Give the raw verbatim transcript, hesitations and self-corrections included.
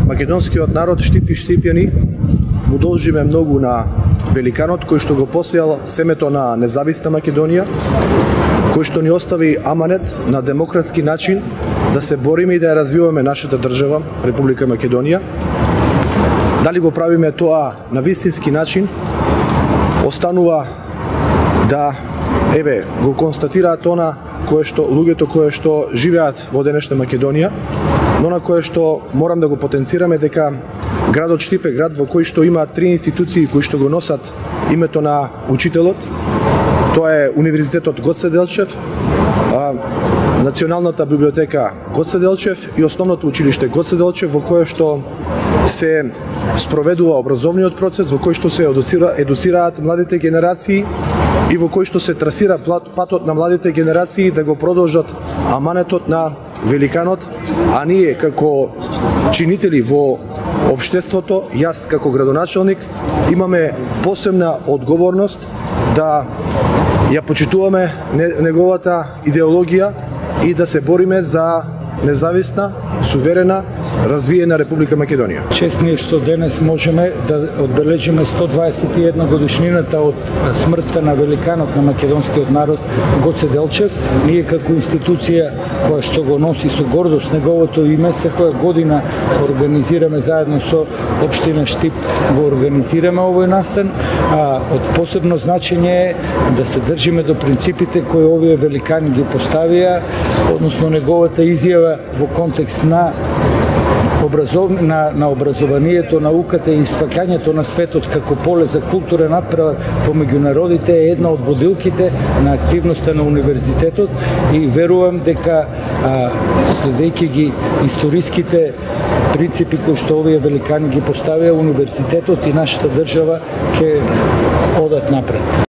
македонскиот народ Штип и Штипјани му должиме многу на великанот кој што го посеял семето на независна Македонија, кој што ни остави аманет на демократски начин да се бориме и да ја развиваме нашата држава, Република Македонија. Дали го правиме тоа на вистински начин, останува да, еве, го констатираат она кое што луѓето кои што живеат во денешна Македонија, но на кое што морам да го потенцираме дека градот Штип е град во кој што има три институции кои што го носат името на учителот. Тоа е Универзитетот Гоце Делчев, Националната библиотека Гоце Делчев и Основното училиште Гоце Делчев, во кое што се спроведува образовниот процес, во кој што се едуцира, едуцираат младите генерации и во кој што се трасира патот на младите генерации да го продолжат аманетот на великанот, а ние како чинители во општеството, јас како градоначалник, имаме посебна одговорност да ја почитуваме неговата идеологија и да се бориме за независна, суверена, развиена Република Македонија. Чест ни е што денес можеме да одбележиме сто дваесет и една годишнината од смртта на великанот на македонскиот народ Гоце Делчев. Ние како институција која што го носи со гордост неговото име, секоја година организираме заедно со општина Штип, го организираме овој настан, а од посебно значење е да се држиме до принципите кои овие великани ги поставија, односно неговата изјава во контекст на образов... на, на образованието, науката и сваќањето на светот како поле за културен надпревар помеѓу народите е една од водилките на активноста на универзитетот и верувам дека а, следејќи ги историските принципи кои што овие великани ги поставија, универзитетот и нашата држава ќе одат напред.